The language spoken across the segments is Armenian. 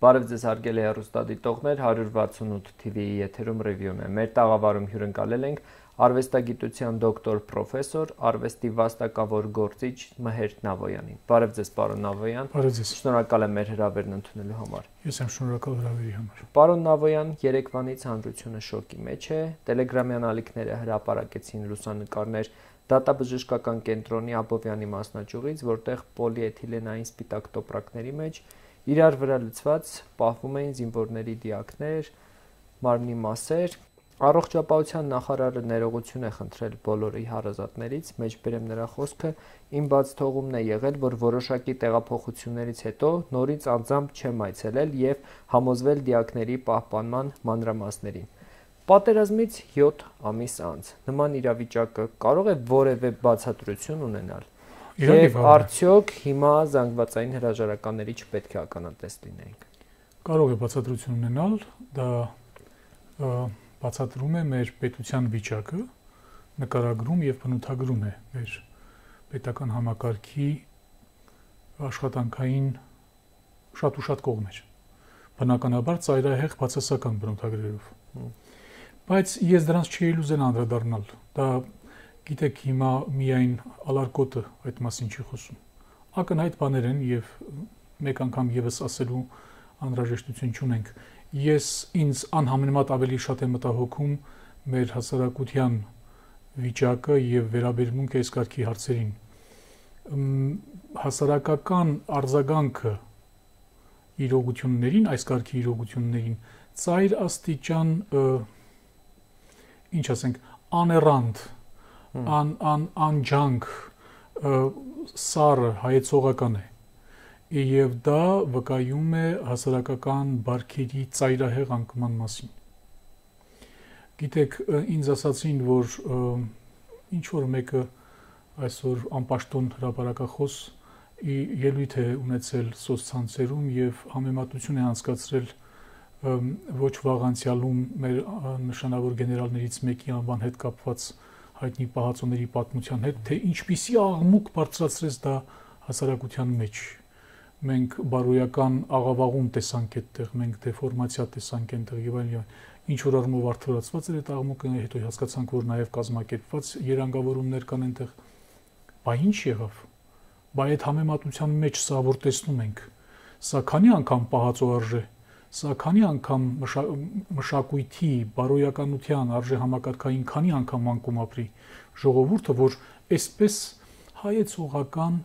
Բարև ձեզ հարգելի հեռուստադիտողներ, 168 TV-ի եթերում ռևյուն է։ Մեր տաղավարում հյուրընկալել ենք արվեստագիտության դոկտոր պրոֆեսոր, արվեստի վաստակավոր գործիչ Մհեր Նավոյանին։ Բարև ձեզ, պարոն Նավոյան։ Բարև ձեզ։ Շնորհակալ եմ մեր հրավերն ընդունելու համար։ Ես եմ շնորհակալ հրավերի համար։ Պարոն Նավոյան, երեկվանից հանրությունը շոկի մեջ է։ Տելեգրամյան ալիքները հրապարակեցին լուսանկարներ դատաբժշկական կենտրոնի Աբովյանի մասնաճյուղից, որտեղ պոլիէթիլենային սպիտակ տոպրակների մեջ իրար վրա լցված պահվում էին զինվորների դիակներ, մարմնի մասեր։ Առողջապահության նախարարը ներողություն է խնդրել բոլորի հարազատներից, մեջբերեմ նրա խոսքը, իմ բաց թողումն է եղել, որ որոշակի տեղափոխություններից հետո նորից անձամբ չեմ այցելել եւ համոզվել դիակների պահպանման մանրամասներին։ Պատերազմից 7 ամիս անց նման իրավիճակը կարող է որևէ բացատրություն ունենալ։ Եվ արդյոք հիմա զանգվածային հրաժարականների չպետք է ականատես լինենք։ Կարող է բացատրություն ունենալ, դա բացատրում է մեր պետության վիճակը, նկարագրում եւ բնութագրում է մեր պետական համակարգի աշխատանքային շատ ու շատ կողմեր։ Բնականաբար ծայրահեղ բացասական բնութագրերով։ Բայց ես դրանց չի ուզեն անդրադառնալ։ Դա գիտեք հիմա միայն ալարկոտը այդ մասին չի խոսում։ Ակնհայտ բաներ են եւ մեկ անգամ եւս ասելու անհրաժեշտություն չունենք։ Ես ինձ անհամեմատ ավելի շատ է մտահոգում մեր հասարակության վիճակը եւ վերաբերմունքը այս կարգի հարցերին։ Հասարակական արձագանքը իրողություններին, այս կարգի իրողություններին ծայր աստիճան ինչ ասենք աներանդ անջանք սառը հայեցողական է եւ դա վկայում է հասարակական բարքերի ծայրահեղ անկման մասին։ Գիտեք, ինձ ասացին, որ ինչ որ մեկը այսօր անպաշտոն հրապարակախոս ելույթ է ունեցել սոցցանցերում եւ համեմատություն է անցկացրել ոչ վաղ անցյալում մեր նշանավոր գեներալներից մեկի անվան հետ կապված հայտնի պահածոների պատմության հետ, թե ինչպիսի աղմուկ բարձրացրեց դա հասարակության մեջ։ Մենք բարոյական աղավաղում տեսանք այդտեղ, մենք դեֆորմացիա տեսանք այնտեղ եւ այլն, ինչ որ առումով արդարացված էր այդ աղմուկը, հետո հասկացանք, որ նաեւ կազմակերպված երանգավորումներ կան այնտեղ։ Բա ինչ եղավ։ Բա այդ համեմատության մեջ սա որ տեսնում ենք, սա քանի անգամ պահածո արժե, սա քանի անգամ մշակույթի, բարոյականության արժե համակարգային քանի անգամ անկում ապրի ժողովուրդը, որ այսպես հայեցողական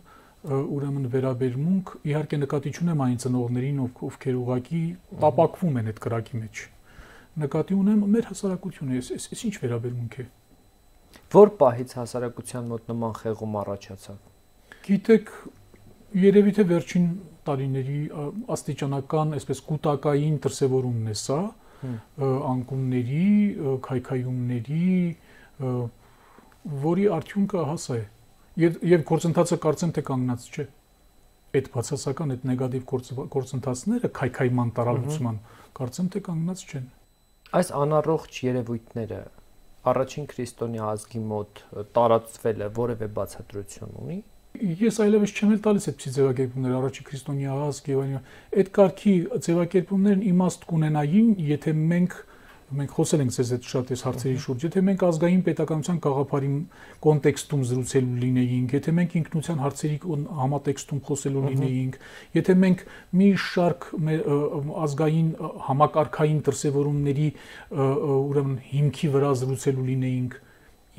ուրեմն վերաբերմունք, իհարկե նկատի չունեմ այն ծնողներին, ովքեր ուղղակի տապակվում են այդ կրակի մեջ։ Նկատի ունեմ մեր հասարակությունը, այս ինչ վերաբերմունք է։ Որ պահից հասարակության մոտ նման խեղում առաջացավ։ Գիտեք, երևի թե վերջին տարիների աստիճանական, այսպես կուտակային դրսևորումն է սա, անկումների, քայքայումների, որի արդյունքը հասա է։ Եվ գործընթացը կարծեմ թե կանգնած չէ։ Այդ բացասական, այդ նեգատիվ գործընթացները քայքայման տարալուծման կարծեմ թե կանգնած չեն։ Այս անառողջ երևույթները առաջին քրիստոնյա ազգի մոտ տարածվել է որևէ բացատրություն ունի։ Ես այլևս չեմ տալիս այդպիսի ձևակերպումներ, առաջին քրիստոնյա ազգ եւ այլն։ Այդ կարգի ձևակերպումներն իմաստ կունենային, եթե մենք խոսել ենք ձեզ այդ շատ այս հարցերի շուրջ, եթե մենք ազգային պետականության գաղափարի կոնտեքստում զրուցելու լինեինք, եթե մենք ինքնության հարցերի համատեքստում խոսելու լինեինք, եթե մենք մի շարք ազգային համակարգային դրսևորումների ուրեմն հիմքի վրա զրուցելու լինեինք,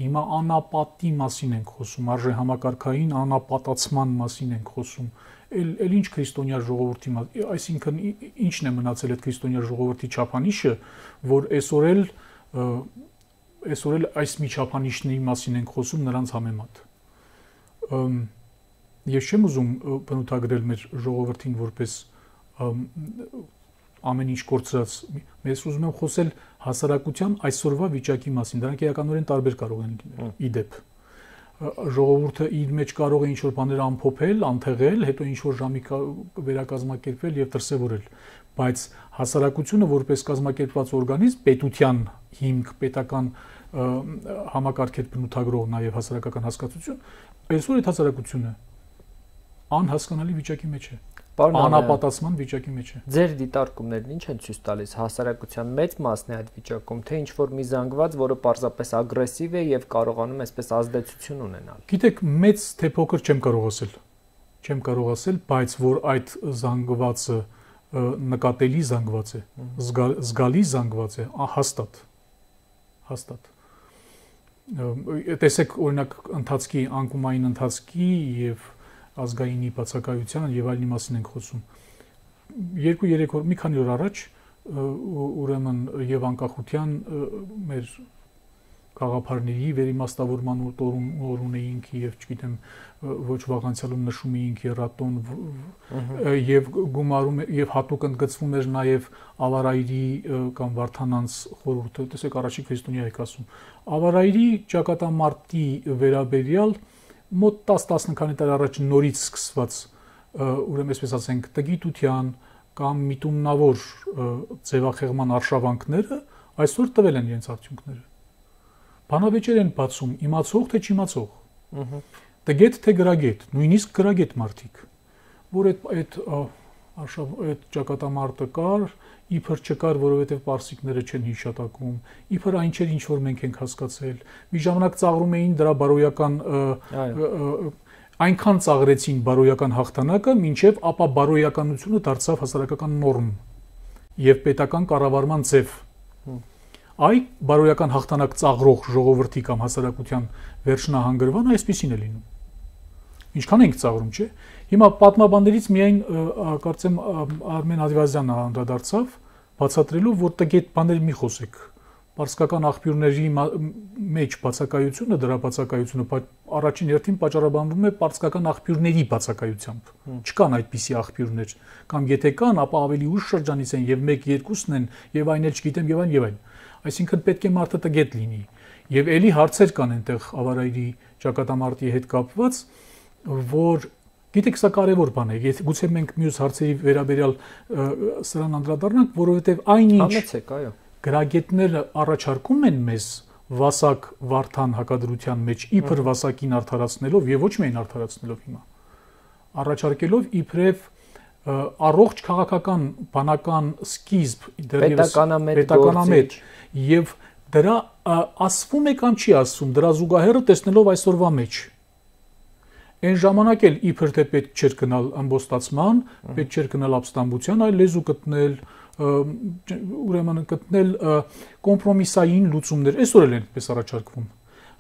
հիմա անապատի մասին ենք խոսում, արժե համակարգային անապատացման մասին ենք խոսում։ Էլ ինչ քրիստոնյա ժողովրդի, այսինքն ինչն է մնացել այդ քրիստոնյա ժողովրդի չափանիշը, որ այսօր էլ այս մի չափանիշների մասին ենք խոսում նրանց համեմատ։ Ես չեմ ուզում բնութագրել մեր ժողովրդին որպես ամեն ինչ կորցրած, ես ուզում եմ խոսել հասարակության այսօրվա վիճակի մասին, դրանք էականորեն տարբեր կարող են լինել, իդեպ։ Ժողովուրդը իր մեջ կարող է ինչ-որ բաներ ամփոփել, անթեղել, հետո ինչ-որ ժամի վերակազմակերպել եւ դրսեւորել, բայց հասարակությունը որպես կազմակերպված օրգանիզմ, պետության հիմք, պետական համակարգեր բնութագրող նաեւ հասարակական հասկացություն, այսօր այդ հասարակությունը անհասկանալի վիճակի մեջ է։ անապատասման վիճակի մեջ է։ Ձեր դիտարկումներն ինչ են ցույց տալիս հասարակության մեծ մասն է այդ վիճակում, թե ինչ որ մի զանգված, որը պարզապես ագրեսիվ է եւ կարողանում այսպես ազդեցություն ունենալ։ Գիտեք, մեծ թե փոքր չեմ կարող ասել, բայց որ այդ զանգվածը նկատելի զանգված է, զգալի զանգված է, հաստատ։ Տեսեք, օրինակ, անկումային ընթացքի եւ ազգայինի բացակայության եւ այլնի մասին ենք խոսում։ 2-3 օր, մի քանի օր առաջ, ուրեմն եւ անկախության մեր գաղափարների վերիմաստավորման օր ունեինք եւ չգիտեմ ոչ վաղ անցյալում նշում էինք երատոն եւ գումարում եւ հատուկ ընդգծվում էր նաեւ Ավարայրի կամ Վարդանանց խորհուրդը, տեսեք առաջի քրիստոնյա եք ասում, Ավարայրի ճակատամարտի վերաբերյալ մոտ 10-10 քանի տարի առաջ նորից սկսված ուրեմն այսպես ասենք տգիտության կամ միտումնավոր ձևախեղման արշավանքները այսօր տվել են իրենց արդյունքները։ Բանավեճեր են բացում, իմացող թե չիմացող։ Տգետ թե գրագետ, նույնիսկ գրագետ մարդիկ, որ այդ ճակատամարտը կար, իբր չկար, որովհետև պարսիկները չեն հիշատակում, իբր այն չէր, ինչ որ մենք ենք հասկացել։ Մի ժամանակ ծաղրում էին դրա բարոյական այնքան ծաղրեցին բարոյական հաղթանակը, մինչև ապա բարոյականությունը դարձավ հասարակական նորմ եւ պետական կառավարման ձև։ Այ բարոյական հաղթանակ ծաղրող ժողովրդի կամ հասարակության վերջնահանգրվանը այսպեսին է լինում։ Ինչքան ենք ծաղրում, չէ՞։ Հիմա պատմաբաններից միայն կարծեմ Արմեն Ադիվազյանը անդրադարձավ, բացատրելով, որ տգետ բաներ մի խոսեք։ Պարսկական աղբյուրների մեջ բացակայությունը, դրա բացակայությունը առաջին հերթին պատճառաբանվում է պարսկական աղբյուրների բացակայությամբ։ Չկան այդպիսի աղբյուրներ, կամ եթե կան, ապա ավելի ուշ շրջանից են եւ 1-2-ն են, եւ այն էլ չգիտեմ եւ այն։ Այսինքն պետք է մարդը տգետ լինի։ Եվ ելի հարցեր կան այնտեղ Ավարայրի ճակատամարտի հետ կապված, որ գիտեք, սա կարևոր բան է։ Եթե գուցե մենք մյուս հարցերի վերաբերյալ սրան անդրադառնանք, որովհետև այնինչ գրագետները առաջարկում են մեզ վասակ Վարդան հակադրության մեջ իբր վասակին արդարացնելով եւ ոչ միայն արդարացնելով հիմա, առաջարկելով իբրև առողջ քաղաքական բանական սկիզբ պետականամետ եւ դրա ասվում է կամ չի ասվում, դրա զուգահեռը տեսնելով այսօրվա մեջ։ Այն ժամանակ էլ իբր թե պետք չէր գնալ ամբոստացման, պետք չէր գնալ ապստամբության, այլ լեզու գտնել, ուրեմն գտնել կոմպրոմիսային լուծումներ, այսօր էլ այնպես առաջարկվում։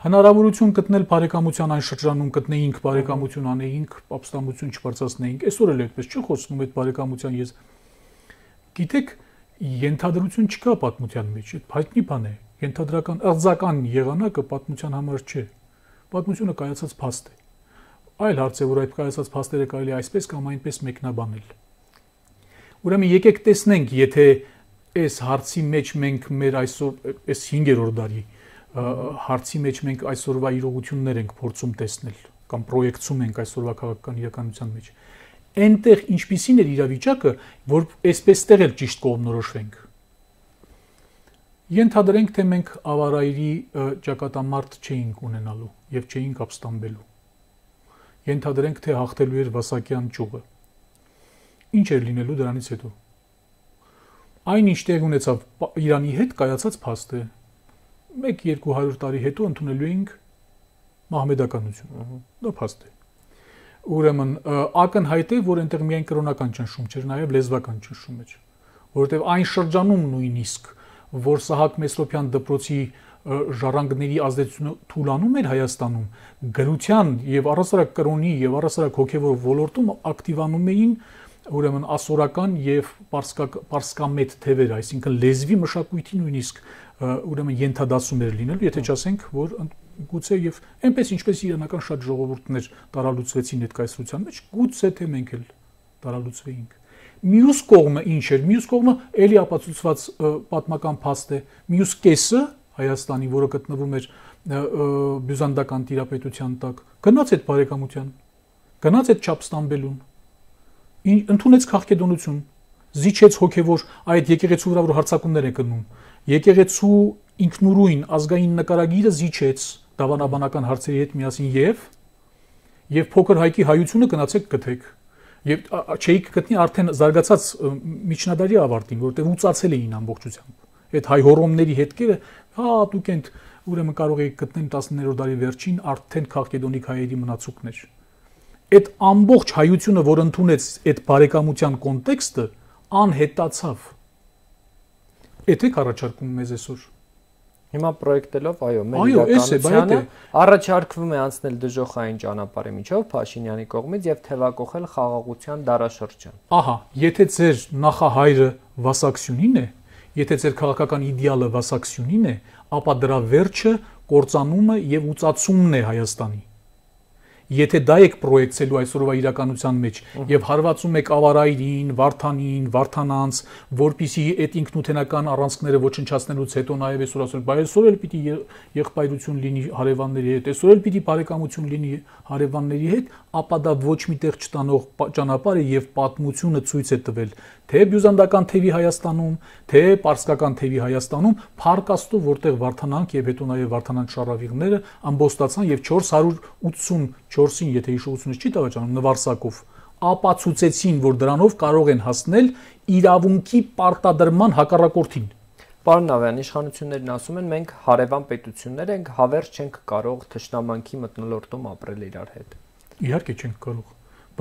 Հնարավորություն գտնել բարեկամության այն շրջանում գտնեինք, բարեկամություն անեինք, ապստամբություն չբարձրացնեինք, այսօր էլ այդպես չի խոսվում այդ բարեկամության ես։ Գիտեք, ենթադրություն չկա պատմության մեջ, այդ հայտնի բան է։ Ենթադրական ըղձական եղանակը պատմության համար չէ։ Պատմությունը կայացած փաստ է։ Այլ հարց է, որ այդ կայացած փաստերը կարելի այսպես կամ այնպես մեկնաբանել։ Ուրեմն եկեք տեսնենք, եթե այս հարցի մեջ մենք մեր այսօր այս 5-րդ դարի հարցի մեջ մենք այսօրվա իրողություններ ենք փորձում տեսնել կամ պրոյեկցում ենք այսօրվա քաղաքական իրականության մեջ։ Այնտեղ ինչպիսին էր իրավիճակը, որ այսպեստեղ էլ ճիշտ կողմնորոշվենք։ Ենթադրենք, թե մենք Ավարայրի ճակատամարտ չէինք ունենալու եւ չէինք ապստամբելու։ Ենթադրենք, թե հաղթելու էր Վասակյան ճյուղը։ Ինչ էր լինելու դրանից հետո։ Այն ինչ տեղ ունեցավ Իրանի հետ կայացած փաստ է։ 1-200 տարի հետո ընդունելու էինք մահմեդականություն։ Դա փաստ է։ Ուրեմն ակնհայտ է, որ այնտեղ միայն կրոնական ճնշում չէր, նաև լեզվական ճնշում էր, որովհետև այն շրջանում նույնիսկ, որ Սահակ Մեսրոպյան դպրոցի ժառանգների ազդեցությունը թուլանում էր Հայաստանում, գրության եւ առասարակ կրոնի եւ առասարակ հոգեվոր ոլորտում ակտիվանում էին ուրեմն ասորական եւ պարսկամետ թևեր, այսինքն լեզվի մշակույթի նույնիսկ ուրեմն ենթադասում էր լինելու, եթե չասենք, որ գուցե եւ այնպես ինչպես իրանական շատ ժողովուրդներ տարալուծվեցին այդ կայսրության մեջ, գուցե թե մենք էլ տարալուծվեինք։ Մյուս կողմը ինչ էր։ Մյուս կողմը էլի ապացուցված պատմական փաստ է։ Մյուս կեսը Հայաստանի, որը գտնվում էր բյուզանդական տիրապետության տակ, գնաց այդ բարեկամության, գնաց այդ չապստամբելուն, ընդունեց քաղաքեդոնություն, զիջեց հոգևոր այդ եկեղեցու վրա, որ հարձակումներ է գնում, եկեղեցու ինքնուրույն ազգային նկարագիրը զիջեց դավանաբանական հարցերի հետ միասին եւ փոքր հայկի հայությունը գնացեք գտեք։ Եվ չէիք գտնի արդեն զարգացած միջնադարի ավարտին, որտեղ ուծացել էին ամբողջությամբ։ Այդ հայ հոռոմների հետքերը դուք եք ուրեմն կարող եք գտնել 19-րդ դարի վերջին արդեն քաղաքեդոնիկ հայերի մնացուկներ։ Այդ ամբողջ հայությունը, որ ընդունեց այդ բարեկամության կոնտեքստը, անհետացավ։ Էդ եք առաջարկում մեզ այսօր։ Հիմա պրոյեկտելով, այո, մեր իրականությանը առաջարկվում է անցնել դժոխային ճանապարհի միջով Փաշինյանի կողմից եւ թևակողել խաղաղության դարաշրջան։ Ահա, եթե ձեր նախահայրը Վասակսյունին է, եթե ձեր քաղաքական իդեալը Վասակսյունին է, ապա դրա վերջը կործանումը եւ ուծացումն է Հայաստանի։ Եթե դա եք պրոյեկցելու այսօրվա իրականության մեջ եւ հարվածում եք Ավարայրին, Վարդանին, Վարդանանց, որպիսի այդ ինքնութենական առանցքները ոչնչացնելուց հետո նաեւ այսօր ասել, բայց այսօր էլ պիտի եղբայրություն լինի հարևանների հետ, այսօր էլ պիտի բարեկամություն լինի հարևանների հետ, ապա դա ոչ միտեղ չտանող ճանապարհ է եւ պատմությունը ցույց է տվել, թե բյուզանդական թևի Հայաստանում, թե պարսկական թևի Հայաստանում Փառք Աստծո, որտեղ Վարդանանք եւ հետո նաեւ Վարդանանց շարավիղները ամբոստացան եւ 484-ին, եթե հիշողությունս չի տավաճանում, Նվարսակով ապացուցեցին, որ դրանով կարող են հասնել իրավունքի պարտադրման հակառակորդին։ Պարոն Նավյան, իշխանություններն ասում են, մենք հարևան պետություններ ենք, հավերժ չենք կարող թշնամանքի մթնոլորտում ապրել իրար հետ։ Իհարկե չենք կարող,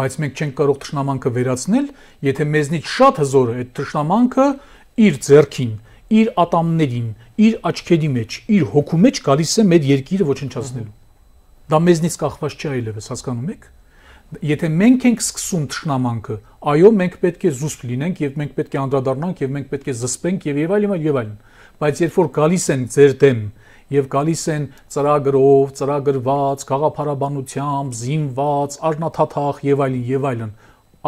բայց մենք չենք կարող թշնամանքը վերացնել, եթե մեզնից շատ հզորը այդ թշնամանքը իր ձեռքին, իր ատամներին, իր աչքերի մեջ, իր հոգու մեջ գալիս է մեր երկիրը ոչնչացնելու։ Դա մեզնից կախված չէ այլևս, հասկանում եք։ Եթե մենք ենք սկսում թշնամանքը, այո, մենք պետք է զուսպ լինենք եւ մենք պետք է անդրադառնանք եւ մենք պետք է զսպենք եւ այլն, բայց երբ որ գալիս են ձեր դեմ եւ գալիս են ծրագրով, ծրագրված, գաղափարաբանությամբ, զինված, արժանաթաթախ եւ այլն,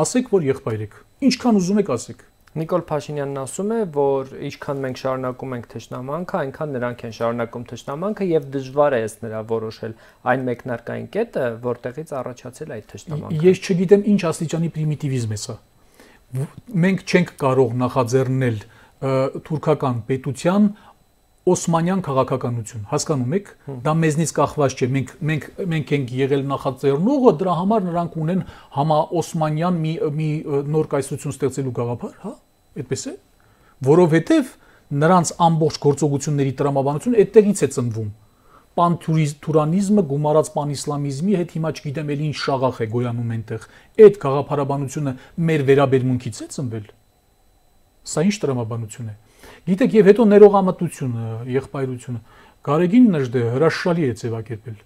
ասեք, որ եղբայր եք։ Ինչքան ուզում եք ասեք։ Նիկոլ Փաշինյանն ասում է, որ ինչքան մենք շարունակում ենք թշնամանքը, այնքան նրանք են շարունակում թշնամանքը եւ դժվար է ըստ նրա որոշել այն մեկնարկային կետը, որտեղից առաջացել այդ թշնամանքը։ Ես չգիտեմ ինչ աստիճանի պրիմիտիվիզմ է սա։ Մենք չենք կարող նախաձեռնել թուրքական պետության Օսմանյան քաղաքականություն, հասկանում եք, դա մեզնից կախված չէ, մենք ենք եղել նախաձեռնողը, դրա համար նրանք ունեն համաօսմանյան մի նոր կայսրություն ստեղծելու գաղափար, հա, այդպես է, որովհետև նրանց ամբողջ գործողությունների տրամաբանությունը այդտեղից է ծնվում։ Պանթուրիզմը գումարած պանիսլամիզմի հետ հիմա չգիտեմ էլ ինչ շաղախ է գոյանում այնտեղ։ Այդ գաղափարաբանությունը մեր վերաբերմունքից է ծնվել։ Սա ինչ տրամաբանություն է։ Գիտեք, եւ հետո ներողամտությունը, եղբայրությունը, Գարեգին Նժդեհը հրաշալի է ձևակերպել։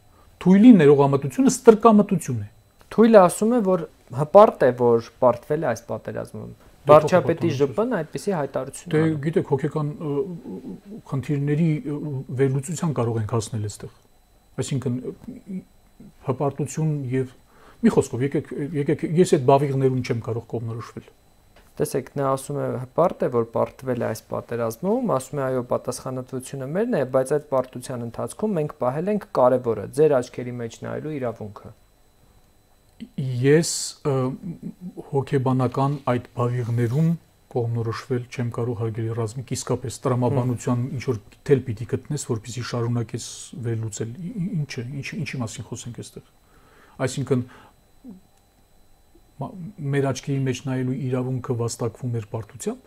Թույլի ներողամտությունը ստրկամտություն է։ Թույլը ասում է, որ հպարտ է, որ պարտվել է այս պատերազմում։ Վարչապետի ԺՊ-ն այդպիսի հայտարարություն Դե գիտեք, հոգեկան խնդիրների վերլուծության կարող ենք հասնել այստեղ։ Այսինքն հպարտություն եւ մի խոսքով եկեք ես այդ բավիղներում չեմ կարող կողմնորոշվել։ Տեսեք, նա ասում է հպարտ է, որ պարտվել է այս պատերազմում, ասում է այո, պատասխանատվությունը մերն է, բայց այդ պարտության ընթացքում մենք պահել ենք կարևորը, ձեր աչքերի մեջ նայելու իրավունքը։ Ես հոգեբանական այդ բավիղներում կողմնորոշվել չեմ կարող հարգելի ռազմիկ, իսկապես տրամաբանության ինչ որ թել պիտի գտնես, որպեսզի շարունակես վերլուծել։ Ինչի մասին խոսենք այստեղ։ Այսինքն մեր աչքերի մեջ նայելու իրավունքը վաստակվում էր պարտությամբ։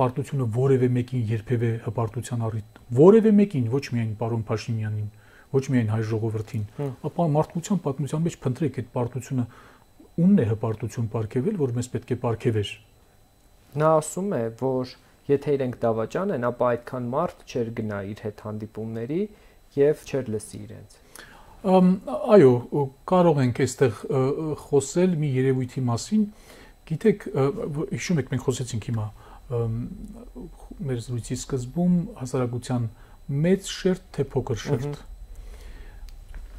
Պարտությունը որևէ մեկին երբևէ հպարտության առիթ, որևէ մեկին, ոչ միայն պարոն Փաշինյանին, ոչ միայն հայ ժողովրդին, ապա մարդկության պատմության մեջ փնտրեք այդ պարտությունը ումն է հպարտություն պարգևել, որ մեզ պետք է պարգևեր։ Նա ասում է, որ եթե իրենք դավաճան են, ապա այդքան մարդ չէր գնա իր հետ հանդիպումների եւ չէր լսի իրենց։ Այո, կարող ենք այստեղ խոսել մի երևույթի մասին։ Գիտեք, հիշում եք մենք խոսեցինք հիմա մեր զրույցի սկզբում հասարակության մեծ շերտ թե փոքր շերտ։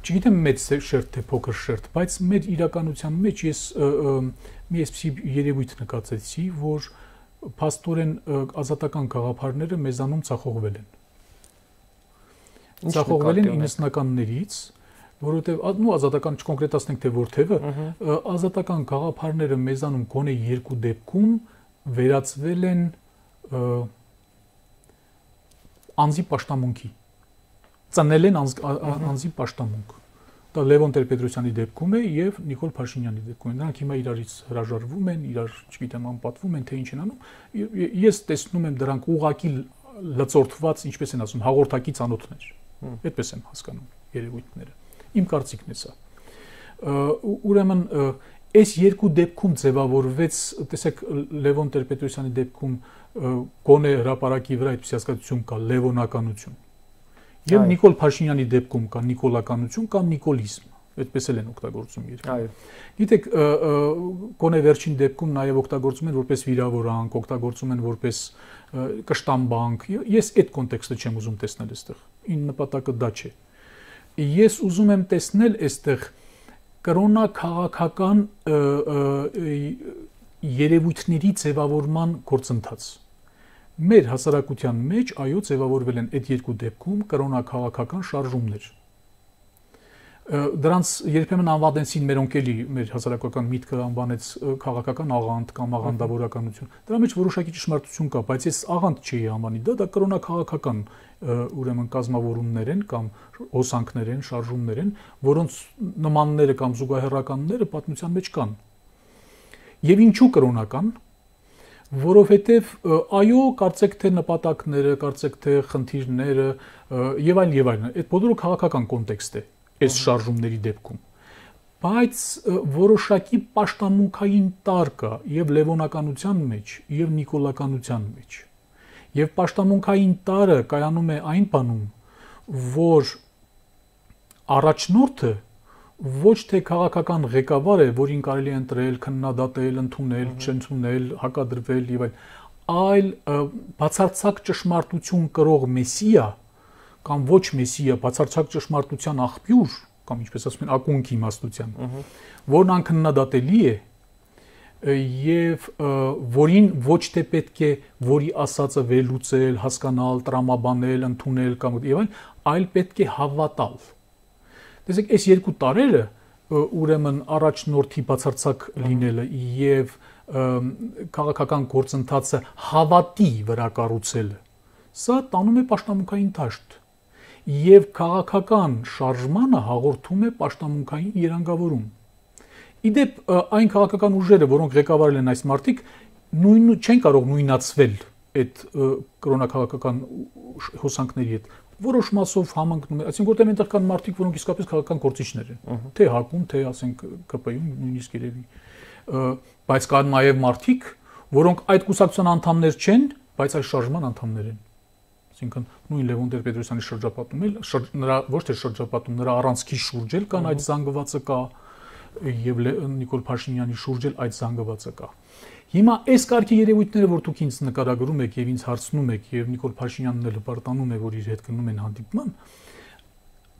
Չգիտեմ մեծ շերտ թե փոքր շերտ, բայց մեր իրականության մեջ ես մի այսպիսի երևույթ նկատեցի, որ փաստորեն ազատական գաղափարները մեզանում ցախողվել են։ Ցախողվել են 90-ականներից, որովհետև ազատական չկոնկրետացնենք թե որթևը, ազատական գաղափարները մեզանում գոնե երկու դեպքում վերածվել են անձի պաշտամունքի, ծնել են անձի պաշտամունք, Դա Լևոն Տեր-Պետրոսյանի դեպքում է եւ Նիկոլ Փաշինյանի դեպքում է։ Նրանք հիմա իրարից հրաժարվում են, իրար, չգիտեմ, անպատվում են, թե ինչ են անում։ Ես տեսնում եմ դրանք ուղակի լծորթված, ինչպես են ասում, հաղորդակի ծանոթներ։ Այդպես եմ հասկանում երևույթները։ Իմ կարծիքն է սա։ Ուրեմն այս երկու դեպքում ձևավորվեց, տեսեք, Լևոն Տեր-Պետրոսյանի դեպքում գոնե հրապարակի վրա այդպես հասկացություն կա լևոնականություն։ Եվ Նիկոլ Փաշինյանի դեպքում կա նիկոլականություն կամ նիկոլիզմ, այդպես էլ են օգտագործում երկը։ Այո։ Գիտեք, գոնե վերջին դեպքում նաև օգտագործում են որպես վիրավորանք, օգտագործում են որպես կշտամբանք։ Ես այդ կոնտեքստը չեմ ուզում տեսնել այստեղ։ Ին նպատակը դա չէ։ Ես ուզում եմ տեսնել այստեղ կրոնա քաղաքական երևույթների ձևավորման գործընթաց։ Մեր հասարակության մեջ այո ձևավորվել են այդ երկու դեպքում կրոնաքաղաքական շարժումներ։ Դրանց երբեմն անվանեցին մերոնք էլի մեր հասարակական միտքը անվանեց քաղաքական աղանդ կամ աղանդավորականություն։ Դրա մեջ որոշակի ճշմարտություն կա, բայց ես աղանդ չի անվանի, դա կրոնաքաղաքական ուրեմն կազմավորումներ են կամ հոսանքներ են, շարժումներ են, որոնց նմանները կամ զուգահեռականները պատմության մեջ կան։ Եվ ինչու կրոնական, որովհետև այո, կարծեք թե նպատակները, կարծեք թե խնդիրները եւ այլն, այդ բոլորը քաղաքական կոնտեքստ է այս շարժումների դեպքում։ Բայց որոշակի պաշտամունքային տար կա եւ լևոնականության մեջ, եւ նիկոլականության մեջ։ Եվ պաշտամունքային տարը կայանում է այն բանում, որ առաջնորդը ոչ թե քաղաքական ղեկավար է, որին կարելի է ընտրել, քննադատել, ընդունել, չընդունել, հակադրվել եւ այլ բացարձակ ճշմարտություն կրող մեսիա կամ ոչ մեսիա, բացարձակ ճշմարտության աղբյուր կամ ինչպես ասում են ակունք իմաստության, որն անքննադատելի է եւ որին ոչ թե պետք է որի ասածը վերլուծել, հասկանալ, տրամաբանել, ընդունել կամ եւ այլ պետք է հավատալ։ Տեսեք, այս երկու տարերը ուրեմն առաջնորդի բացարձակ լինելը եւ քաղաքական գործընթացը հավատի վրա կառուցելը, սա տանում է պաշտամունքային դաշտ եւ քաղաքական շարժմանը հաղորդում է պաշտամունքային երանգավորում։ Իդեպ այն քաղաքական ուժերը, որոնք ղեկավարել են այս մարդիկ, չեն կարող նույնացվել այդ կրոնաքաղաքական հոսանքների հետ։ Որոշ մասով համընկնում է, այսինքն որտեղ այնտեղ կան մարդիկ, որոնք իսկապես քաղաքական գործիչներ են, թե ՀԱԿ-ում, թե ասենք ԿՊ-ում, նույնիսկ երևի։ Բայց կան նաև մարդիկ, որոնք այդ կուսակցության անդամներ չեն, բայց այս շարժման անդամներ են։ Այսինքն նույն Լևոն Տեր-Պետրոսյանի շրջապատում էլ նրա ոչ թե շրջապատում, նրա առանցքի շուրջ էլ կան այդ զանգվածը կա եւ Նիկոլ Փաշինյանի շուրջ էլ այդ զանգվածը կա։ Հիմա այս կարգի երևույթները, որ դուք ինձ նկարագրում եք եւ ինձ հարցնում եք եւ Նիկոլ Փաշինյանն էլ հպարտանում է, որ իր հետ գնում են հանդիպման,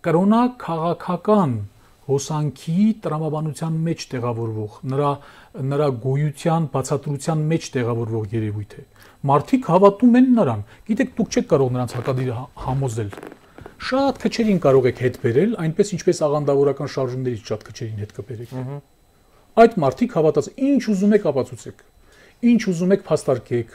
կրոնա քաղաքական հոսանքի տրամաբանության մեջ տեղավորվող, նրա գոյության բացատրության մեջ տեղավորվող երևույթ է։ Մարդիկ հավատում են նրան։ Գիտեք, դուք չեք կարող նրանց հակադիր համոզել։ Շատ քչերին կարող եք հետ բերել, այնպես ինչպես աղանդավորական շարժումներից շատ քչերին հետ կբերեք։ Այդ մարդիկ հավատաց, ինչ ուզում եք ապացուցեք, ինչ ուզում եք փաստարկեք,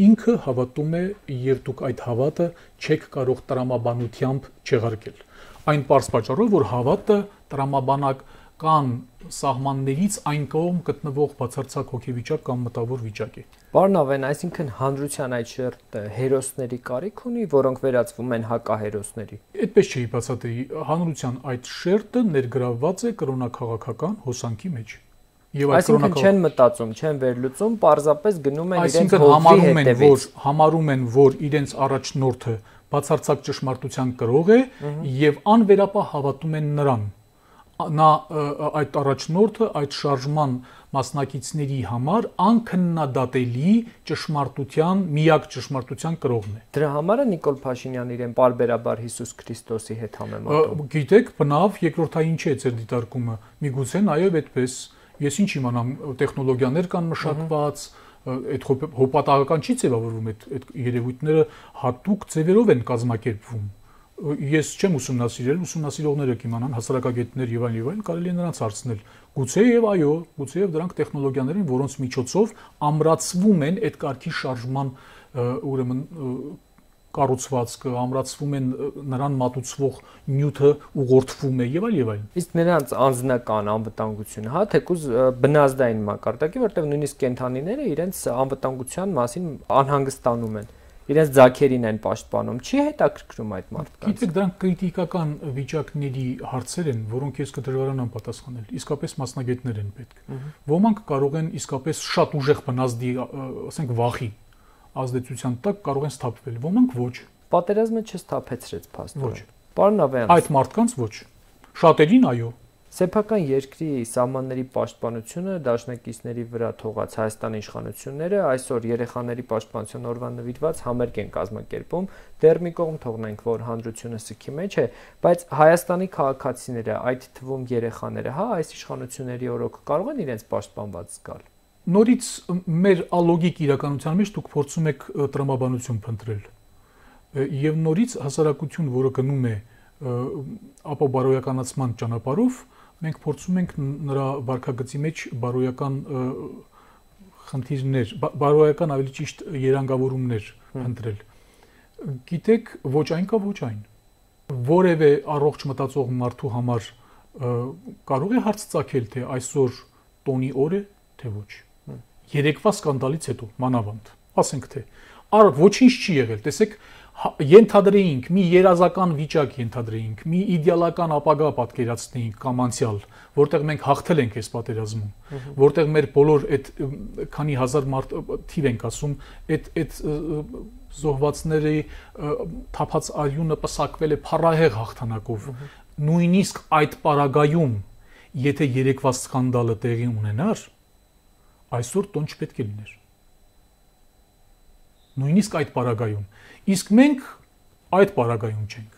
ինքը հավատում է եւ դուք այդ հավատը չեք կարող տրամաբանությամբ չեղարկել։ Այն պարզ պատճառով, որ հավատը տրամաբանական սահմաններից այն կողմ գտնվող բացարձակ հոգեվիճակ կամ մտավոր վիճակ է։ Պարոն Ավեն, այսինքն հանրության այդ շերտը հերոսների կարիք ունի, որոնք վերածվում են հակահերոսների։ Այդպես չի բացատրի, հանրության այդ շերտը ներգրավված է կրոնաքաղաքական հոսանքի մեջ։ Այսինքն չեն մտածում, չեն վերլուծում, պարզապես գնում են իրենց հոգի հետևից։ Համարում են, որ իրենց առաջնորդը բացարձակ ճշմարտության կրող է եւ անվերապահ հավատում են նրան։ Նա այդ առաջնորդը այդ շարժման մասնակիցների համար անքննադատելի ճշմարտության, միակ ճշմարտության կրողն է։ Դրա համար է Նիկոլ Փաշինյանն իրեն պարբերաբար Հիսուս Քրիստոսի հետ համեմատում։ Գիտեք, բնավ երկրորդային չէ ձեր դիտարկումը։ Միգուցե նաեւ այդպես։ Ես ինչ իմանամ, տեխնոլոգիաներ կան մշակված, այդ հոպատակական չի ձևավորվում, այդ երևույթները հատուկ ձևերով են կազմակերպվում։ Ես չեմ ուսումնասիրել, ուսումնասիրողները կիմանան, հասարակագետներ եւ այլն, կարելի է նրանց հարցնել։ Գուցեև այո, գուցեև դրանք տեխնոլոգիաներ են, որոնց միջոցով ամրացվում են այդ կարգի շարժման ուրեմն կառուցվածքը, ամրացվում են նրան մատուցվող նյութը ուղղորդվում է եւ այլն։ Իսկ նրանց անձնական անվտանգությունը, հա, թեկուզ բնազդային մակարդակի, որտեղ նույնիսկ կենդանիները իրենց անվտանգության մասին անհանգստանում են, իրենց ձագերին են պաշտպանում, չի հետաքրքրում այդ մարդկանց։ Գիտեք, դրանք կրիտիկական վիճակների հարցեր են, որոնք ես կդժվարանամ պատասխանել, իսկապես մասնագետներ են պետք։ Ոմանք կարող են իսկապես շատ ուժեղ բնազդի, ասենք վախի ազդեցության տակ կարող են սթափվել, ոմանք ոչ։ Պատերազմը չսթափեցրեց փաստորեն։ Պարոն Ավեյան, այդ մարդկանց ոչ։ Շատերին այո։ Սեփական երկրի սահմանների պաշտպանությունը դաշնակիցների վրա թողած Հայաստանի իշխանությունները այսօր երեխաների պաշտպանության օրվան նվիրված համերգ են կազմակերպում, դեռ մի կողմ թողնենք, որ հանրությունը սգի մեջ է, բայց Հայաստանի քաղաքացիները, այդ թվում երեխաները, հա, այս իշխանությունների օրոք կարող են իրենց պաշտպանված զգալ։ Նորից մեր ալոգիկ իրականության մեջ դուք փորձում եք տրամաբանություն փնտրել։ Եվ նորից հասարակություն, որը գնում է ապոբարոյականացման ճանապարհով, մենք փորձում ենք նրա վարքագծի մեջ բարոյական խնդիրներ, բարոյական ավելի ճիշտ երանգավորումներ ընտրել։ Գիտեք, ոչ այն կա, ոչ այն։ Որևէ առողջ մտածող մարդու համար կարող է հարց ծագել, թե այսօր տոնի օր է, թե ոչ։ Երեկվա սկանդալից հետո մանավանդ, ասենք թե ոչինչ չի եղել, տեսեք, ենթադրեինք, մի երազական վիճակ ենթադրեինք, մի իդեալական ապագա պատկերացնեինք կամ անցյալ, որտեղ մենք հաղթել ենք այս պատերազմում, որտեղ մեր բոլոր այդ քանի հազար մարդ թիվ ենք ասում, այդ զոհվածների թափած արյունը պսակվել է փառահեղ հաղթանակով։ Նույնիսկ այդ պարագայում, եթե երեկվա սկանդալը տեղի ունենար, այսօր տոն չպետք է լիներ։ Նույնիսկ այդ պարագայում։ Իսկ մենք այդ պարագայում չենք։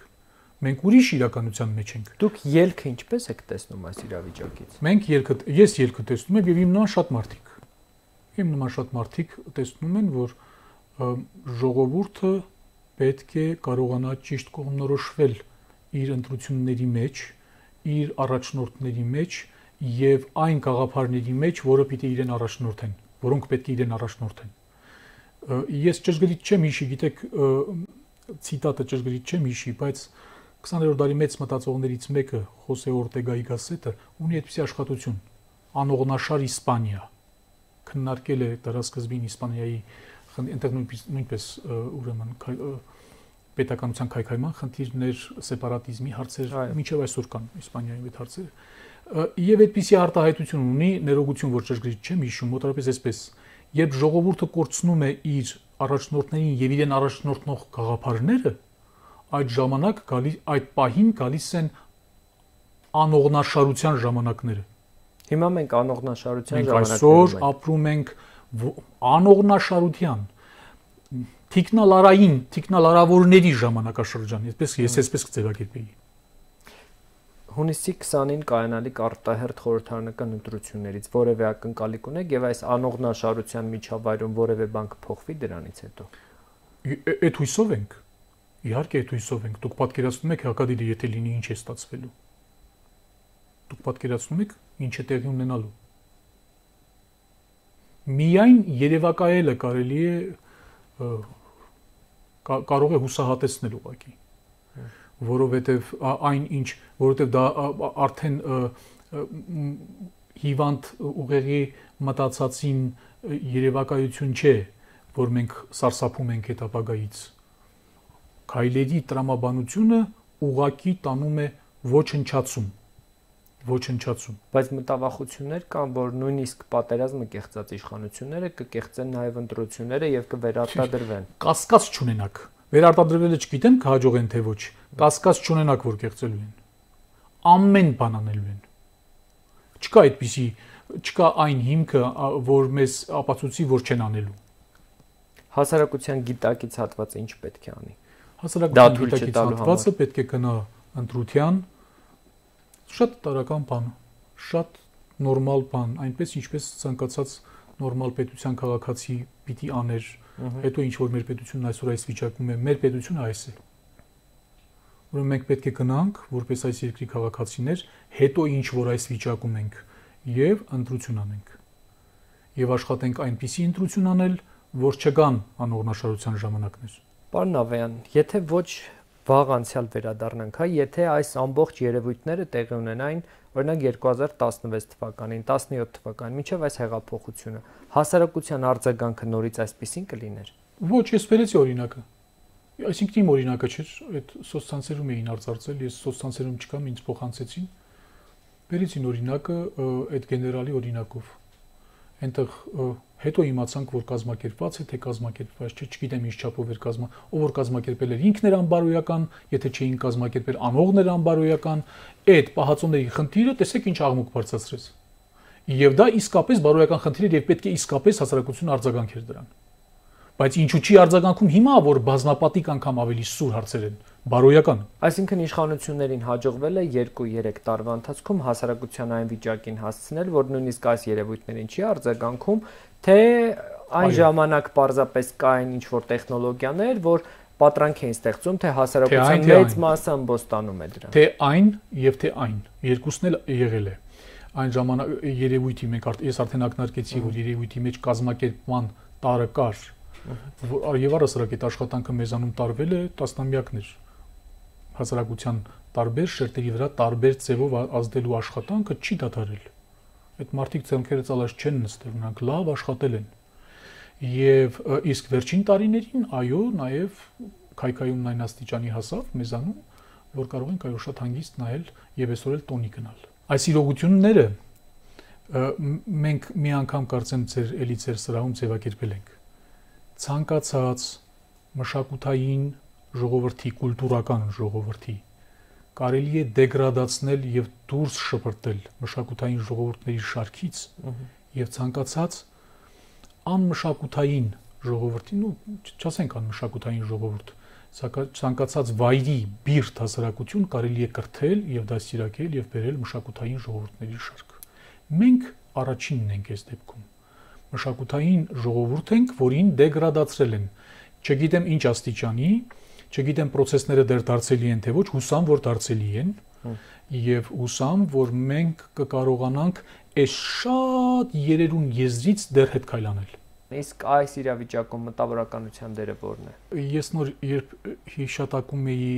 Մենք ուրիշ իրականության մեջ ենք։ Դուք ելքը ինչպես եք տեսնում այս իրավիճակից։ Ես ելքը տեսնում եմ եւ իմ նման շատ մարդիկ։ Իմ նման շատ մարդիկ տեսնում են, որ ժողովուրդը պետք է կարողանա ճիշտ կողմնորոշվել իր ընտրությունների մեջ, իր առաջնորդների մեջ եւ այն գաղափարների մեջ, որը պիտի իրեն առաջնորդեն, որոնք պետք է իրեն առաջնորդեն։ Ես ճշգրիտ չեմ հիշի, գիտեք, ցիտատը ճշգրիտ չեմ հիշի, բայց 20-րդ դարի մեծ մտածողներից մեկը Խոսե Օրտեգայի Գասետը ունի այդպիսի աշխատություն Անողնաշար Իսպանիա, քննարկել է դարաշրջին Իսպանիայի այնտեղ նույնպես ուրեմն պետականության քայքայման խնդիրներ, սեպարատիզմի հարցեր մինչև այսօր կան Իսպանիայում այդ հարցերը։ Եվ այդպիսի արտահայտություն ունի, ներողություն, որ ճշգրիտ չեմ հիշում, մոտավորապես այսպես, երբ ժողովուրդը կորցնում է իր առաջնորդներին եւ իրեն առաջնորդող գաղափարները, այդ ժամանակ այդ պահին գալիս են անողնաշարության ժամանակները։ Հիմա մենք անողնաշարության ժամանակներում ենք։ Մենք այսօր ապրում ենք անողնաշարության թիկնալարավորների ժամանակաշրջան, ես այսպես կձևակերպեի։ Հունիսի 20-ին կայանալիք արտահերթ խորհրդարանական ընտրություններից որևէ ակնկալիք ունեք եւ այս անողնաշարության միջավայրում որևէ բան կփոխվի դրանից հետո։ Այդ հույսով ենք։ Իհարկե այդ հույսով ենք։ Դուք պատկերացնում եք հակադիրը եթե լինի ինչ է ստացվելու։ Դուք պատկերացնում եք ինչ է տեղի ունենալու։ Միայն երևակայելը կարելի է կարող է հուսահատեցնել ուղղակի, որովհետև դա արդեն հիվանդ ուղեղի մտածածին երևակայություն չէ, որ մենք սարսափում ենք այդ ապագայից։ Քայլերի տրամաբանությունը ուղղակի տանում է ոչնչացում։ Բայց մտավախություններ կան, որ նույնիսկ պատերազմը կեղծած իշխանությունները կկեղծեն նաև ընտրությունները եւ կվերարտադրվեն։ Կասկած չունենաք։ Վերարտադրվելը չգիտեմ կհաջողեն թե ոչ։ Կասկած չունենաք, որ կեղծելու են։ Ամեն բան անելու են։ Չկա այն հիմքը, որ մեզ ապացուցի, որ չեն անելու։ Հասարակության գիտակից հատվածը ինչ պետք է անի։ Հասարակության գիտակից հատվածը պետք է գնա ընտրության, շատ տարական բան, շատ նորմալ բան, այնպես ինչպես ցանկացած նորմալ պետության քաղաքացի պիտի աներ, հետո ինչ որ մեր պետությունն այսօր այս վիճակում է, մեր պետությունը այս է։ Ուրեմն մենք պետք է գնանք, որպես այս երկրի քաղաքացիներ, հետո ինչ որ այս վիճակում ենք եւ ընտրություն անենք։ Եվ աշխատենք այնպիսի ընտրություն անել, որ չգան անողնաշարության ժամանակներ։ Պարոն Ավեյան, եթե ոչ վաղ անցյալ վերադառնանք, եթե այս ամբողջ երևույթները տեղի ունենային, օրինակ 2016 թվականին, 17 թվականին, մինչև այս հեղափոխությունը, հասարակության արձագանքը նորից այսպիսին կլիներ։ Ոչ, ես բերեցի օրինակը։ Այսինքն իմ օրինակը չէր, այդ սոցցանցերում էին արծարծել, ես սոցցանցերում չկամ, ինձ փոխանցեցին։ Բերեցին օրինակը այդ գեներալի օրինակով։ Այնտեղ հետո իմացանք, որ կազմակերպված է, թե կազմակերպված չէ, չգիտեմ ինչ չափով էր ով որ կազմակերպել էր ինքն էր անբարոյական, եթե չէին կազմակերպել անողն էր անբարոյական, այդ պահածոների խնդիրը տեսեք ինչ աղմուկ բարձրացրեց։ Եվ դա իսկապես բարոյական խնդիր էր եւ պետք է իսկապես հասարակությունը արձագանքեր դրան։ Բայց ինչու՞ չի արձագանքում հիմա, որ բազմապատիկ անգամ ավելի սուր հարցեր են բարոյական։ Այսինքն իշխանություններին հաջողվել է 2-3 տարվա ընթացքում հասարակության այն վիճակին հասցնել, որ նույնիսկ այս երևույթներին չի արձագանքում, թե այն ժամանակ պարզապես կային ինչ-որ տեխնոլոգիաներ, որ պատրանք էին ստեղծում, թե հասարակության մեծ մասը ըմբոստանում է դրան։ Թե այն եւ թե այն, երկուսն էլ եղել է։ Այն ժամանակ երևույթի ես արդեն ակնարկեցի, որ երևույթի մեջ կազմակերպման տարը կար, եւ առասարակ այդ աշխատանքը մեզանում տարվել է տասնամյակներ։ Հասարակության տարբեր շերտերի վրա տարբեր ձևով ազդելու աշխատանքը չի դադարել։ Այդ մարդիկ ցանկերը ցալած չեն նստել, նրանք լավ աշխատել են։ Եվ իսկ վերջին տարիներին, այո, նաեւ քայքայումն այն աստիճանի հասավ մեզանում, որ կարող ենք այո շատ հանգիստ նայել եւ այսօր էլ տոնի գնալ։ Այս իրողությունները մենք մի անգամ կարծեմ ձեր սրահում ձևակերպել ենք։ Ցանկացած մշակութային ժողովրդի, կուլտուրական ժողովրդի կարելի է դեգրադացնել եւ դուրս շպրտել մշակութային ժողովուրդների շարքից եւ ցանկացած անմշակութային ժողովրդին, չասենք անմշակութային ժողովուրդ, ցանկացած վայրի բիրտ հասարակություն կարելի է կրթել եւ դաստիարակել եւ բերել մշակութային ժողովուրդների շարք։ Մենք առաջինն ենք այս դեպքում։ Մշակութային ժողովուրդ ենք, որին դեգրադացրել են։ Չգիտեմ ինչ աստիճանի, չգիտեմ process-ները դեռ դարձելի են թե ոչ, հուսամ որ դարձելի են եւ հուսամ որ մենք կկարողանանք այս շատ երերուն եզրից դեռ հետ քայլանել։ Իսկ այս իրավիճակում մտավորականության դերը ո՞րն է։ Ես նոր երբ հիշատակում էի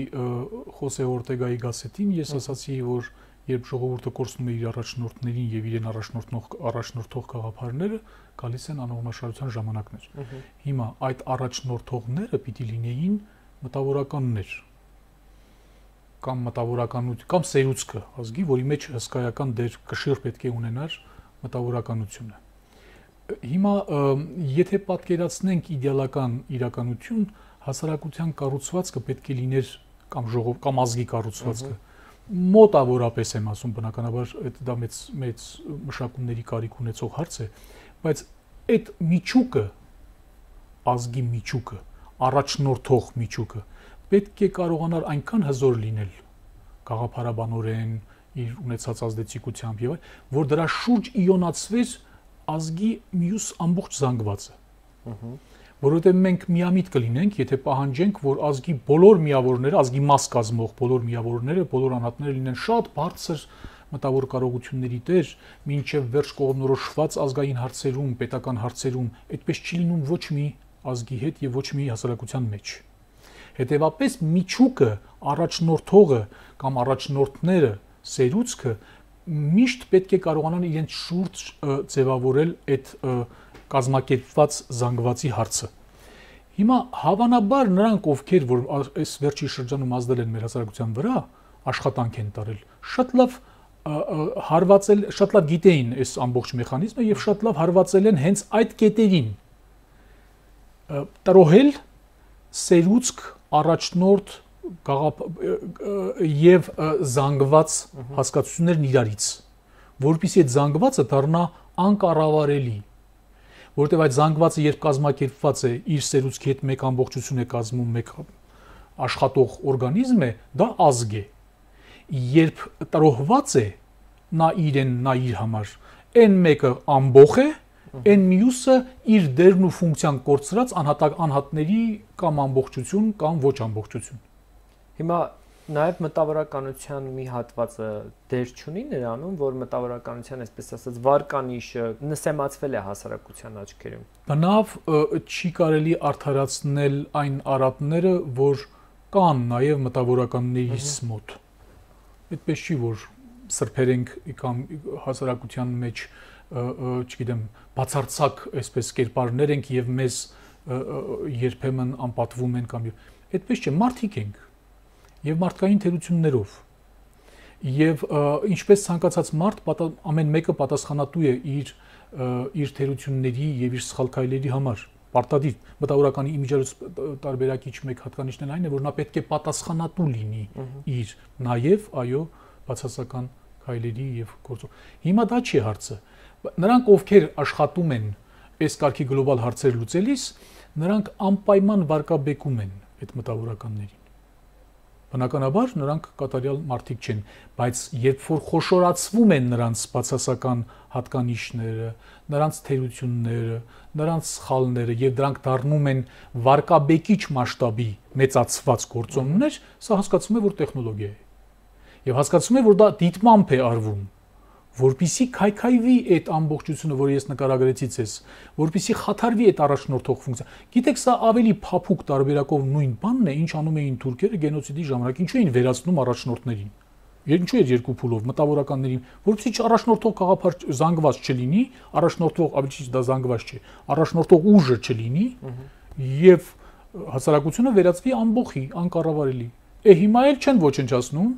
Խոսե Օրտեգայի գասետին, ես ասացի որ երբ ժողովուրդը կորցնում է իր առաջնորդներին եւ իրեն առաջնորդող գաղափարները, գալիս են անողնաշարության ժամանակներ։ Հիմա այդ առաջնորդողները պիտի լինեին մտավորականներ կամ մտավորականություն կամ սերուցքը ազգի, որի մեջ հսկայական դեր կշիռ պետք է ունենար մտավորականությունը։ Հիմա եթե պատկերացնենք իդեալական իրականություն, հասարակության կառուցվածքը պետք է լիներ կամ ազգի կառուցվածքը մոտավորապես եմ ասում, բնականաբար դա մեծ մշակումների կարիք ունեցող հարց է, բայց այդ միջուկը, ազգի միջուկը, առաջնորդող միջուկը պետք է կարողանար այնքան հզոր լինել գաղափարաբանորեն, իր ունեցած ազդեցիկությամբ եւ այլ, որ դրա շուրջ իոնացվեր ազգի մյուս ամբողջ զանգվածը։ Որովհետև մենք միամիտ կլինենք, եթե պահանջենք, որ ազգի բոլոր միավորները, ազգի մաս կազմող բոլոր միավորները, բոլոր անհատները լինեն շատ բարձր մտավոր կարողությունների տեր, մինչև վերջ կողմնորոշված ազգային հարցերում, պետական հարցերում, այդպես չի լինում ոչ մի ազգի հետ եւ ոչ մի հասարակության մեջ։ Հետևաբար միջուկը, առաջնորդողը կամ առաջնորդները, սերուցքը միշտ պետք է կարողանան իրենց շուրջ ձևավորել այդ կազմակերպված զանգվածի հարցը։ Հիմա հավանաբար նրանք, ովքեր որ այս վերջի շրջանում ազդել են մեր հասարակության վրա, աշխատանք են տարել, շատ լավ հարվածել, շատ լավ գիտեին այս ամբողջ մեխանիզմը եւ շատ լավ հարվածել են հենց այդ կետերին։ Տրոհել սերուցք, առաջնորդ եւ զանգված հասկացություններն իրարից, որովհետեւ այդ զանգվածը դառնա անկառավարելի, որովհետեւ այդ զանգվածը երբ կազմակերպված է, իր սերուցքի հետ մեկ ամբողջություն է կազմում, մեկ աշխատող օրգանիզմ է, դա ազգ է։ Երբ տրոհված է նա իրեն, նա իր համար, այն մեկը ամբողջ է, այն մյուսը իր դերն ու ֆունկցիան կորցրած անհատների կամ ամբողջություն կամ ոչ ամբողջություն։ Հիմա Նաև մտավորականության մի հատվածը դեր չունի նրանում, որ մտավորականության, այսպես ասած, վարկանիշը նսեմացվել է հասարակության աչքերում։ Բնավ չի կարելի արդարացնել այն արատները, որ կան նաև մտավորականներից մոտ։ Այդպես չի, որ սրբերենք կամ հասարակության մեջ, չգիտեմ, բացարձակ այսպես կերպարներ ենք եւ մեզ երբեմն անպատվում են կամ այդպես չէ, մարդիկ ենք եւ մարդկային թերություններով եւ ինչպես ցանկացած մարդ ամեն մեկը պատասխանատու է իր թերությունների եւ իր սխալ քայլերի համար պարտադիր մտավորականի իմիջիայլոց տարբերակիչ մեկ հատկանիշն էլ այն է որ նա պետք է պատասխանատու լինի իր նաեւ այո բացասական քայլերի եւ գործով հիմա դա չի հարցը նրանք ովքեր աշխատում են այս կարգի գլոբալ հարցեր լուծելիս նրանք անպայման վարկաբեկում են այդ մտավորականներին բնականաբար նրանք կատարյալ մարդիկ չեն բայց երբ որ խոշորացվում են նրանց բացասական հատկանիշները նրանց թերությունները նրանց սխալները եւ դրանք դառնում են վարկաբեկիչ մասշտաբի մեծացված գործոններ սա հասկացում է որ տեխնոլոգիա է եւ հասկացում է որ դա դիտմամբ է արվում որպիսի քայքայվի այդ ամբողջությունը, որը ես նկարագրեցի ցես, որպիսի խաթարվի այդ առաջնորդող ֆունկցիա։ Գիտեք, սա ավելի փափուկ տարբերակով նույն բանն է, ինչ անում էին թուրքերը գենոցիդի ժամանակ, ինչու էին վերացնում առաջնորդներին։ Ինչու էր երկու փուլով մտավորականներին, որպեսզի առաջնորդող գաղափար զանգված չլինի, առաջնորդող, ավելի ճիշտ դա զանգված չէ, առաջնորդող ուժը չլինի եւ հասարակությունը վերածվի ամբողջի, անկառավարելի։ Հիմա էլ չեն ոչնչացնում,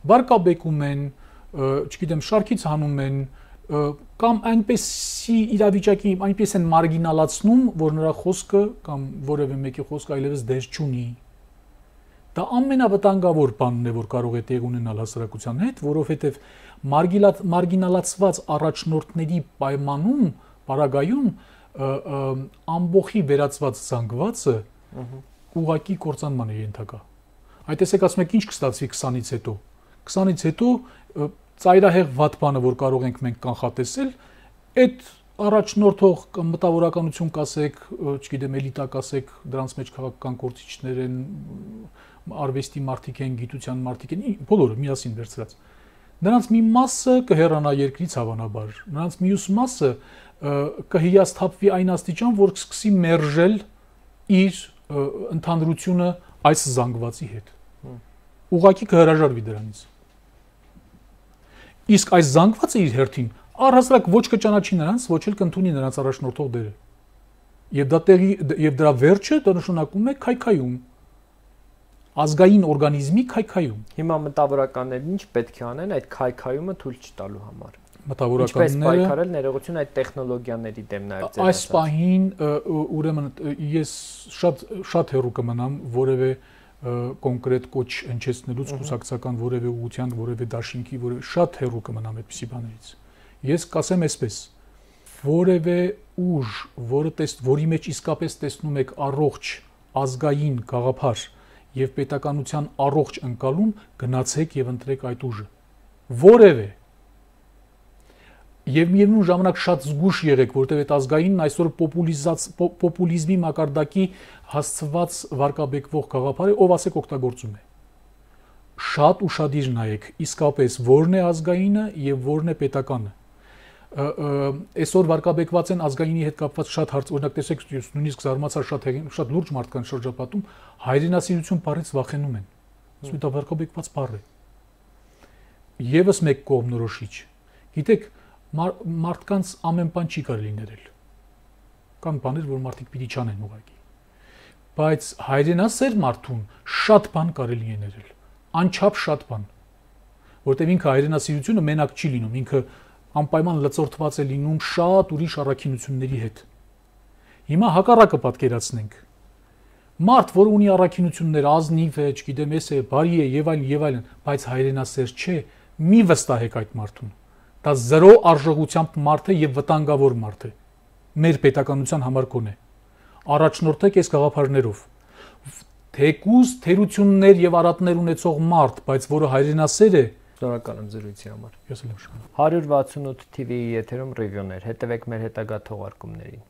վարկաբեկում են չգիտեմ շարքից հանում են կամ այնպեսի իրավիճակի այնպես են մարգինալացնում որ նրա խոսքը կամ որևէ մեկի խոսքը այլևս դեր չունի դա ամենավտանգավոր բանն է որ կարող է տեղ ունենալ հասարակության հետ որովհետև մարգինալացված առաջնորդների պայմանում պարագայում ամբողջի վերածված զանգվածը ուղակի կործանման է ենթակա այդ տեսեք ասում եք ինչ կստացվի 20-ից հետո 20-ից հետո ծայրահեղ վատ բանը որ կարող ենք մենք կանխատեսել այդ առաջնորդող կամ մտավորականություն կասեք, չգիտեմ, էլիտա կասեք, դրանց մեջ քաղաքական գործիչներ են, արվեստի մարդիկ են, գիտության մարդիկ են, բոլորը միասին վերցրած։ Նրանց մի մասը կհեռանա երկրից հավանաբար, նրանց մյուս մասը կհիասթափվի այն աստիճան, որ կսկսի մերժել իր ընդհանրությունը այս զանգվածի հետ։ Ուղղակի կհրաժարվի դրանից։ Իսկ այս զանգվածը իր հերթին առհասարակ ոչ կճանաչի նրանց, ոչ էլ կընդունի նրանց առաջնորդող դերը։ Եվ դրա վերջը դա նշանակում է քայքայում։ Ազգային օրգանիզմի քայքայում։ Հիմա մտավորականներն ինչ պետք է անեն այդ քայքայումը թույլ չտալու համար։ Մտավորականները ինչպես պայքարել ներողություն այդ տեխնոլոգիաների դեմ նաև ձեր այս պահին ուրեմն ես շատ հեռու կմնամ որևէ կոնկրետ կոչ հնչեցնելուց կուսակցական որևէ ուղղության, որևէ դաշինքի, շատ հեռու կմնամ այդպիսի բաներից։ Ես կասեմ այսպես. որևէ ուժ, որի մեջ իսկապես տեսնում եք առողջ ազգային գաղափար եւ պետականության առողջ ընկալում, գնացեք եւ ընտրեք այդ ուժը։ Որևէ Եվ միևնույն ժամանակ շատ զգուշ եղեք, որտեղ այդ ազգայինն այսօր պոպուլիզմի մակարդակի հասցված վարկաբեկվող գաղափարը ով ասեք օգտագործում է։ Շատ ուշադիր նայեք, իսկապես որն է ազգայինը եւ որն է պետականը։ Այսօր վարկաբեկված են ազգայինի հետ կապված շատ հարց, օրինակ տեսեք, նույնիսկ զարմացա շատ լուրջ մարդկանց շրջապատում հայրենասիրություն բառից վախենում են։ Ասում են դա վարկաբեկված բառ է։ Եվս մեկ կողմնորոշիչ։ Գիտեք, մարդկանց ամեն բան չի կարելի ներել։ Կան բաներ, որ մարդիկ պիտի չանեն ուղղակի։ Բայց հայրենասեր մարդուն շատ բան կարելի է ներել։ Անչափ շատ բան։ Որտեղ ինքը հայրենասիրությունը մենակ չի լինում, ինքը անպայման լծորտված է լինում շատ ուրիշ առաքինությունների հետ։ Հիմա հակառակը պատկերացնենք։ Մարդ, որ ունի առաքինություններ, ազնիվ է, չգիտեմ, էս է, բարի է եւ այլն, բայց հայրենասեր չէ, մի վստահեք այդ մարդուն։ Դա զրո արժողությամբ մարդ է եւ վտանգավոր մարդ է։ Մեր պետականության համար կոնե։ Առաջնորդեք այս գաղափարներով։ Թեկուզ թերություններ եւ արատներ ունեցող մարդ, բայց որը հայրենասեր է, շնորհակալ եմ զրույցի համար։ Ես էլ եմ շնորհակալ։ 168 TV-ի եթերում ռիվյուներ, հետևեք մեր հետագա թողարկումներին։